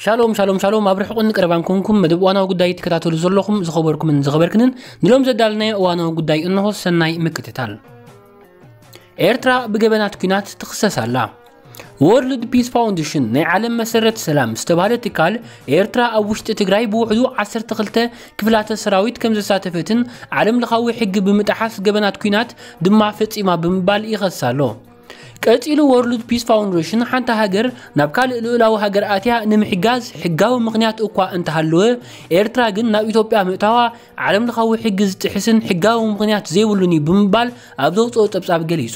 ሻሎም ሻሎም ሻሎም፣ ኣብ ርሑቕን ቀረባን ኮንኩም መደብ እዋናዊ ጉዳይ ትከታተሉ ዘለኹም ዝኸበርኩምን ዝኸበርክንን፣ ንሎም ዘዳልናዮ እዋናዊ ጉዳይ እንሆ። ሰናይ ምክትታል። ኤርትራ ብገበናት ኲናት ትኽሰስ ኣላ። ወርልድ ፒስ ፋውንዴሽን፣ ናይ ዓለም መሰረት ሰላም ዝተባህለ ትካል፣ ኤርትራ ኣብ ውሽጢ ትግራይ ብውሕዱ ዓሰርተ ክልተ ክፍላተ ሰራዊት ከም ዘሳተፈትን ዓለም ለኻዊ ሕጊ ብምጥሓስ ገበናት ኲናት ድማ ፈጺማ ብምባል ይኸሳ ኣሎ። ቀጺሉ፣ ወርልድ ፒስ ፋውንዴሽን፣ ሓንቲ ሃገር ናብ ካልእ ልኡላዊ ሃገር ኣትያ ንምሕጋዝ ሕጋዊ ምኽንያት እኳ እንተሃለወ፣ ኤርትራ ግን ናብ ኢትዮጵያ ምእታዋ ዓለም ለኻዊ ሕጊ ዝጥሕስን ሕጋዊ ምኽንያት ዘይብሉን እዩ ብምባል ኣብ ዘውፅኦ ጸብጻብ ገሊጹ።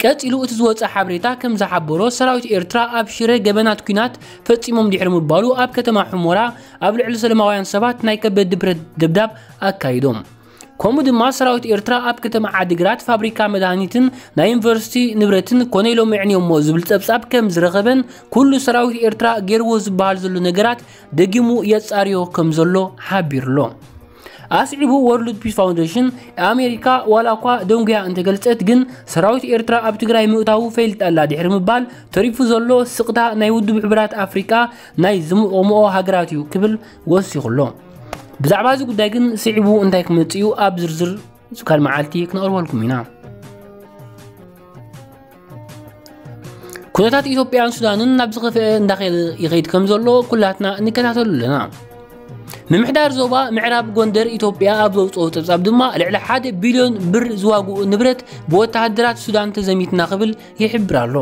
ቀጺሉ እቲ ዝወጸ ሓበሬታ ከም ዝሓበሮ፣ ሰራዊት ኤርትራ ኣብ ሽረ ገበናት ኲናት ፈጺሞም ድሕሪ ምባሉ፣ ኣብ ከተማ ሑሞራ ኣብ ልዕሊ ሰላማውያን ሰባት ናይ ከበድ ብረት ደብዳብ ኣካይዶም። ከምኡ ድማ ሰራዊት ኤርትራ ኣብ ከተማ ዓዲግራት ፋብሪካ መድሃኒትን ናይ ዩኒቨርሲቲ ንብረትን ኮነ ኢሎም የዕንዮሞ ዝብል ጸብጻብ ከም ዝረኸበን፣ ኩሉ ሰራዊት ኤርትራ ገይርዎ ዝበሃል ዘሎ ነገራት ደጊሙ የጻርዮ ከም ዘሎ ሓቢሩ ኣሎ። ኣስዒቡ፣ ወርልድ ፒስ ፋውንዴሽን፣ ኣሜሪካ ዋላ እኳ ደንጉያ እንተገልጸት፣ ግን ሰራዊት ኤርትራ ኣብ ትግራይ ምእታዉ ፈሊጣ ኣላ ድሕሪ ምባል፣ ተሪፉ ዘሎ ስቕታ ናይ ውድብ ሕቡራት ኣፍሪቃ ናይ ዝምኦምኦ ሃገራት እዩ ክብል ወሲኹ ኣሎ። ብዛዕባ እዚ ጉዳይ ግን ስዒቡ እንታይ ክመጽእ እዩ ኣብ ዝርዝር ካልእ መዓልቲ ክነቕርበልኩም ኢና። ኩነታት ኢትዮጵያን ሱዳንን ናብ ዝኸፍአ እንዳኸደ ይኸይድ ከም ዘሎ ኩላትና እንከታተሉ ኣለና። ምምሕዳር ዞባ ምዕራብ ጎንደር ኢትዮጵያ ኣብ ዘውፅኦ ጸብጻብ ድማ፣ ልዕሊ ሓደ ቢልዮን ብር ዝዋግኡ ንብረት ብወተሃደራት ሱዳን ተዘሚትና ክብል ይሕብር ኣሎ።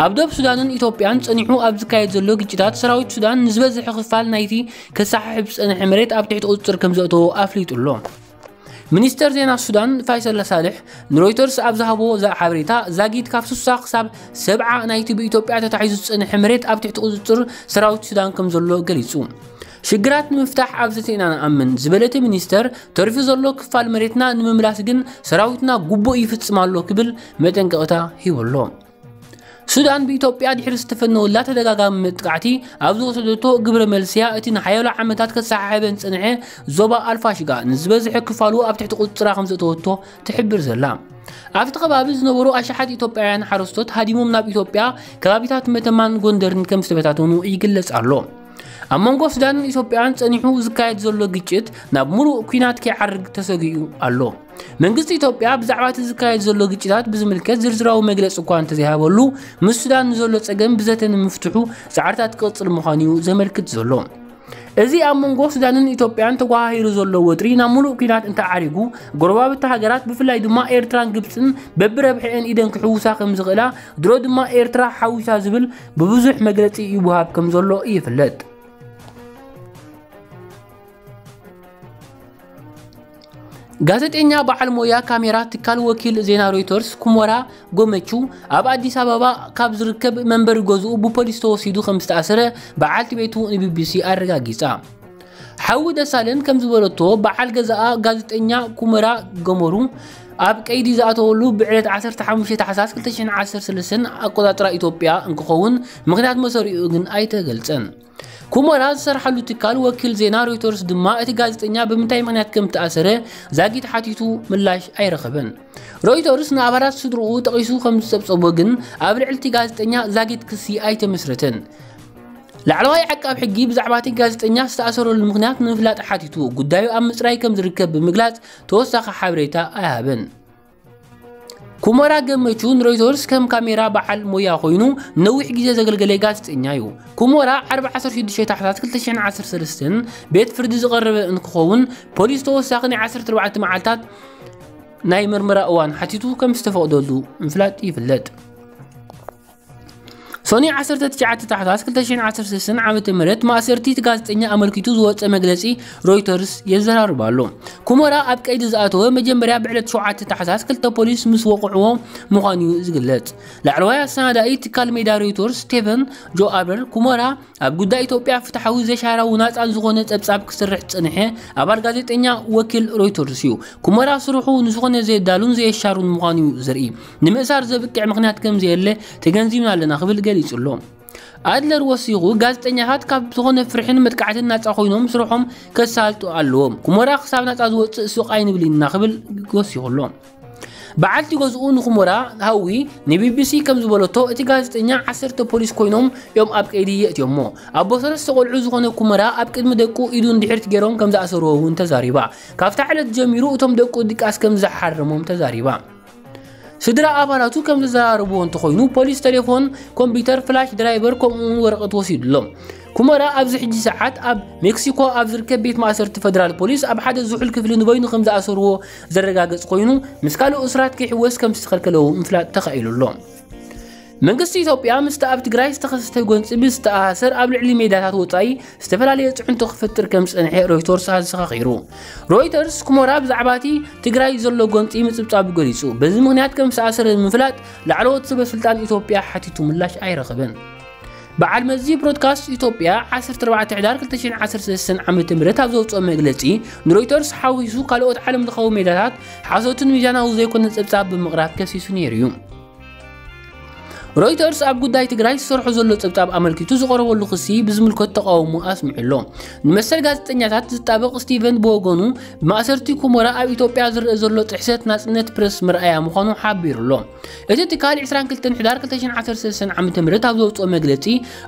ኣብ ዶብ ሱዳንን ኢትዮጵያን ጸኒሑ ኣብ ዝካየድ ዘሎ ግጭታት፣ ሰራዊት ሱዳን ንዝበዝሐ ክፋል ናይቲ ከሰሓሕብ ዝጸንሐ መሬት ኣብ ትሕቲ ቁጽጽር ከም ዘእተዎ ኣፍሊጡ ኣሎ። ሚኒስተር ዜና ሱዳን ፋይሰል ሳልሕ ንሮይተርስ ኣብ ዝሃቦ ዛ-፣ ሓበሬታ፣ ዛጊት ካብ ስሳ ክሳብ ሰብዓ ናይቲ ብኢትዮጵያ ተታሒዙ ዝጸንሐ መሬት ኣብ ትሕቲ ቁጽጽር ሰራዊት ሱዳን ከም ዘሎ ገሊጹ። ሽግራት ንምፍታሕ ኣብ ዘተ ኢና ንኣምን ዝበለ እቲ ሚኒስተር፣ ተሪፉ ዘሎ ክፋል መሬትና ንምምላስ ግን ሰራዊትና ግቡእ ይፍጽም ኣሎ ክብል መጠንቀቕታ ሂቡ ኣሎ። ሱዳን ብኢትዮጵያ ድሕሪ ዝተፈነወላ ተደጋጋሚ መጥቃዕቲ ኣብ ዝወሰደቶ ግብረ መልስያ፣ እቲ ንሓያሎ ዓመታት ከሰሓሕበን ዝጸንሐ ዞባ ኣልፋሽጋ ንዝበዝሐ ክፋሉ ኣብ ትሕቲ ቁጽጽራ ከም ዘእተወቶ ትሕብር ዘላ። ኣብቲ ከባቢ ዝነበሩ ኣሽሓት ኢትዮጵያውያን ሓረስቶት ሃዲሞም ናብ ኢትዮጵያ ከባቢታት መተማን ጎንደርን ከም ዝተበታተኑ ይግለጽ ኣሎ። ኣብ መንጎ ሱዳንን ኢትዮጵያን ጸኒሑ ዝካየድ ዘሎ ግጭት ናብ ምሉእ ኲናት ከይዓርግ ተሰጊኡ ኣሎ። መንግስቲ ኢትዮጵያ ብዛዕባ እቲ ዝካየድ ዘሎ ግጭታት ብዝምልከት ዝርዝራዊ መግለጺ እኳ እንተዘይሃበሉ፣ ምስ ሱዳን ንዘሎ ጸገም ብዘተ ንምፍትሑ ጻዕርታት ክቕጽል ምዃኑ እዩ ዘመልክት ዘሎ። እዚ ኣብ መንጎ ሱዳንን ኢትዮጵያን ተጓሃሂሩ ዘሎ ወጥሪ ናብ ምሉእ ኲናት እንተዓሪጉ፣ ጎረባብቲ ሃገራት ብፍላይ ድማ ኤርትራን ግብጽን በብረብሐኤን ኢደን ክሕውሳ ከም ዝኽእላ፣ ድሮ ድማ ኤርትራ ሓዊሳ ዝብል ብብዙሕ መግለጺ ይወሃብ ከም ዘሎ ይፍለጥ። ጋዜጠኛ በዓል ሞያ ካሜራ ትካል ወኪል ዜና ሮይተርስ ኩሞራ ጎመቹ ኣብ ኣዲስ ኣበባ ካብ ዝርከብ መንበሪ ገዝኡ ብፖሊስ ተወሲዱ ከም ዝተኣሰረ በዓልቲ ቤቱ ንቢቢሲ ኣረጋጊጻ። ሓዊ ደሳለን ከም ዝበለቶ፣ በዓል ገዛኣ ጋዜጠኛ ኩመራ ገመሩ ኣብ ቀይዲ ዝኣተወሉ ብዕለት ዓሰርተ ሓሙሽተ ታሕሳስ ክልተ ሽሕን ዓሰርተ ሰለስተን ኣቆጻጽራ ኢትዮጵያ እንክኸውን፣ ምኽንያት መሰሪኡ ግን ኣይተገልጸን። ኩመራ ዝሰርሓሉ ትካል ወኪል ዜና ሮይተርስ ድማ እቲ ጋዜጠኛ ብምንታይ ምኽንያት ከም ተኣሰረ ዛጊት ሓቲቱ ምላሽ ኣይረኸበን። ሮይተርስ ንኣባላት ስድርኡ ጠቒሱ ከም ዝጸብጸቦ ግን፣ ኣብ ልዕሊ እቲ ጋዜጠኛ ዛጊት ክሲ ኣይተመስረተን። ላዕለዋይ ዓቃብ ሕጊ ብዛዕባ እቲ ጋዜጠኛ ዝተኣሰረሉ ምኽንያት ንምፍላጥ ሓቲቱ፣ ጉዳዩ ኣብ ምጽራይ ከም ዝርከብ ብምግላጽ ተወሳኺ ሓበሬታ ኣይሃበን። ኩመራ ገመቹ ንሮይተርስ ከም ካሜራ በዓል ሞያ ኮይኑ ነዊሕ ግዜ ዘገልገለ ጋዜጠኛ እዩ። ኩመራ ዓርቢ ዓሰርተ ሽዱሽተ ታሕሳስ ክልተ ሽሕን ዓሰርተ ሰለስተን ቤት ፍርዲ ዝቐረበ እንትኸውን፣ ፖሊስ ተወሳኺ ናይ ዓሰርተ ኣርባዕተ መዓልታት ናይ ምርመራ እዋን ሓቲቱ ከም ዝተፈቕደሉ ምፍላጥ ይፍለጥ። ሰኑይ ዓሰርተ ትሽዓተ ታሕሳስ ክልተ ሽሕን ዓሰርተ ሰለስተን ዓመተ ምህረት ማእሰርቲ እቲ ጋዜጠኛ ኣመልኪቱ ዝወጸ መግለጺ ሮይተርስ የዘራርብ ኣሎ። ኩመራ ኣብ ቀይዲ ዝኣተወ መጀመርያ ብዕለት ሸውዓተ ታሕሳስ ክልተ ፖሊስ ምስ ወቕዕዎ ምዃኑ እዩ ዝግለጽ። ላዕለዋይ ኣሰናዳኢ ትካል ሜዳ ሮይተርስ ስቴፈን ጆ ኣበር፣ ኩመራ ኣብ ጉዳይ ኢትዮጵያ ፍትሓዊ፣ ዘይሻራዊ፣ ናጻን ዝኾነ ጸብጻብ ክሰርሕ ዝጸንሐ ኣባል ጋዜጠኛ ወኪል ሮይተርስ እዩ። ኩመራ ስርሑ ንዝኾነ ዘየዳሉን ዘየሻሩን ምዃኑ እዩ ዘርኢ። ንምእሳር ዘብቅዕ ምኽንያት ከም ዘየለ ተገንዚብና ኣለና ክብል ገሊጹ ኣሎ። ኣድለር ወሲኹ፣ ጋዜጠኛታት ካብ ዝኾነ ፍርሕን መጥቃዕትን ናጻ ኮይኖም ስርሖም ከሳልጡ ኣለዎም። ኩመራ ክሳብ ናጻ ዝወጽእ ስቕ ኣይንብል ኢና ክብል ወሲኹ ኣሎ። በዓልቲ ገዝኡ ንኩመራ ሃዊ ንቢቢሲ ከም ዝበለቶ፣ እቲ ጋዜጠኛ ዓሰርተ ፖሊስ ኮይኖም እዮም ኣብ ቀይዲ የእትዮሞ። ኣቦ ሰለስተ ቆልዑ ዝኾነ ኩመራ ኣብ ቅድሚ ደቁ ኢዱ እንድሕር ገይሮም ከም ዝኣሰርዎ እውን ተዛሪባ። ካብታ ዕለት ጀሚሩ እቶም ደቁ ድቃስ ከም ዝሓረሞም ተዛሪባ። ስድራ ኣባላቱ ከም ዘዘራረብዎ እንተኾይኑ፣ ፖሊስ ቴሌፎን፣ ኮምፒውተር፣ ፍላሽ ድራይቨር ከምኡውን ወረቐት ወሲዱሎም። ኩመራ ኣብዚ ሕጂ ሰዓት ኣብ ሜክሲኮ ኣብ ዝርከብ ቤት ማእሰርቲ ፈደራል ፖሊስ ኣብ ሓደ ዝሑል ክፍሊ ንበይኑ ከም ዝኣሰርዎ ዘረጋገጽ ኮይኑ፣ ምስ ካልእ እሱራት ክሕወስ ከም ዝተኸልከለ እውን ምፍላጥ ተኻኢሉ ኣሎ። መንግስቲ ኢትዮጵያ ምስቲ ኣብ ትግራይ ዝተኸሰተ ጎንፂ ብዝተኣሳሰር ኣብ ልዕሊ ሜዳታት ወፃኢ ዝተፈላለየ ፅዕንቶ ክፈጥር ከም ዝፀንሐ ሮይተርስ ኣዘኻኺሩ። ሮይተርስ ኩመራ ብዛዕባ እቲ ትግራይ ዘሎ ጎንፂ ምፅብፃቡ ገሊፁ፣ በዚ ምኽንያት ከም ዝተኣሰረ ንምፍላጥ ላዕለዎት ሰበ ስልጣን ኢትዮጵያ ሓቲቱ ምላሽ ኣይረኸበን። በዓል መዚ ብሮድካስት ኢትዮጵያ ዓሰርተ ኣርባዕተ ሕዳር ክልተ ሽሕን ዓሰርተ ሰለስተን ዓመተ ምህረት ኣብ ዘውፅኦ መግለፂ፣ ንሮይተርስ ሓዊሱ ካልኦት ዓለም ለኻዊ ሜዳታት ሓሶትን ሚዛናዊ ዘይኮነ ፀብፃብ ብምቕራብ ከሲሱ ነይሩ እዩ። ሮይተርስ ኣብ ጉዳይ ትግራይ ዝሰርሖ ዘሎ ጸብጻብ ኣመልኪቱ ዝቐረበሉ ክሲ ብዝምልከት ተቓውሞ ኣስሚዑ ኣሎ። ንመሰል ጋዜጠኛታት ዝጣበቕ ስቲቨን ብወገኑ፣ ብማእሰርቲ ኩመራ ኣብ ኢትዮጵያ ዝረአ ዘሎ ጥሕሰት ናጽነት ፕረስ መርኣያ ምዃኑ ሓቢሩ ኣሎ። እቲ ትካል ዕስራን ክልተን ሕዳር ክልተ ሽሕን ዓሰርተ ሰለስተን ዓመተ ምህረት ኣብ ዘውጽኦ መግለጺ፣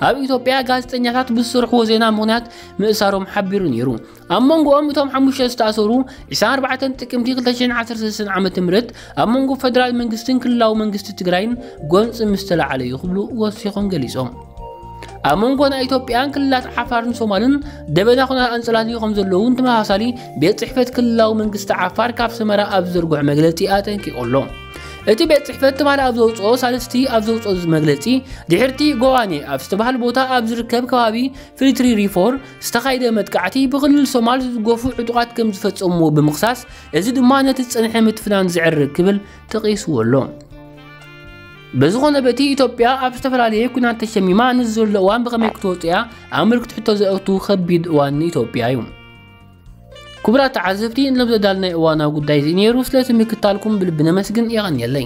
ኣብ ኢትዮጵያ ጋዜጠኛታት ብዝሰርሕዎ ዜና ምኽንያት ምእሳሮም ሓቢሩ ነይሩ። ኣብ መንጎኦም እቶም ሓሙሽተ ዝተኣሰሩ፣ ዕስራን ኣርባዕተን ጥቅምቲ ክልተ ሽሕን ዓሰርተ ሰለስተን ዓመተ ምህረት ኣብ መንጎ ፈደራል መንግስትን ክልላዊ መንግስቲ ትግራይን ጎንፂ ምስ ተለዓለ እዩ ክብሉ ወሲኾም ገሊፆም። ኣብ መንጎ ናይ ኢትዮጵያን ክልላት ዓፋርን ሶማልን ደበና ኩናት ኣንፀላልዩ ከም ዘለውን ተመሳሳሊ ቤት ፅሕፈት ክልላዊ መንግስቲ ዓፋር ካብ ሰመራ ኣብ ዝዘርግሖ መግለፂ ኣጠንቂቑ ኣሎ። እቲ ቤት ፅሕፈት ትማሊ ኣብ ዘውፅኦ፣ ሳልስቲ ኣብ ዘውፅኦ መግለፂ፣ ድሕርቲ ጎዋኔ ኣብ ዝተባህለ ቦታ ኣብ ዝርከብ ከባቢ ፍሊትሪ ሪፎር ዝተኻየደ መጥቃዕቲ ብክልል ሶማል ዝድገፉ ዕጡቓት ከም ዝፈጸምዎ ብምኽሳስ፣ እዚ ድማ ነቲ ዝጸንሐ ምትፍናን ዘዕርግ ክብል ተቒስዎ ኣሎ። በዝኾነ በቲ ኢትዮጵያ ኣብ ዝተፈላለየ ኲናት ተሸሚማ ንዝዘሎ እዋን ብኸመይ ክትወጽእ እያ ኣመልክቲ ሕቶ ዘእቱ ከቢድ እዋን ንኢትዮጵያ እዩ። ክቡራት ተዓዘብቲ፣ ንሎም ዘዳልናይ እዋናዊ ጉዳይ እዚ ነይሩ። ስለቲ ምክታልኩም ብልቢ ነመስግን። የቐንየለይ።